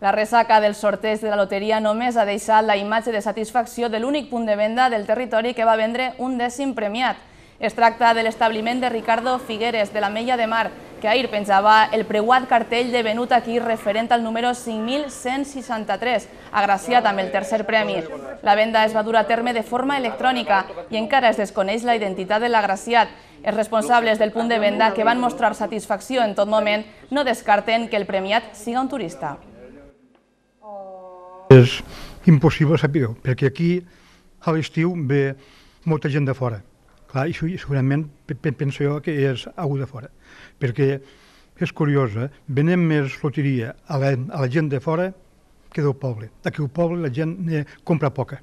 La ressaca del sorteig de la loteria només ha deixat la imatge de satisfacció de l'únic punt de venda del territori que va vendre un 10è premiat. Es tracta de l'establiment de Ricardo Figueres, de l'Ametlla de Mar, que ahir penjava el preuat cartell de venut aquí referent al número 5.163, agraciat amb el tercer premi. La venda es va dur a terme de forma electrònica i encara es desconeix la identitat de l'agraciat. Els responsables del punt de venda, que van mostrar satisfacció en tot moment, no descarten que el premiat siga un turista. És impossible saber-ho, perquè aquí a l'estiu ve molta gent de fora. Clar, i segurament penso jo que és algú de fora, perquè és curiós, venem més loteria a la gent de fora que del poble. Aquí al poble la gent compra poca.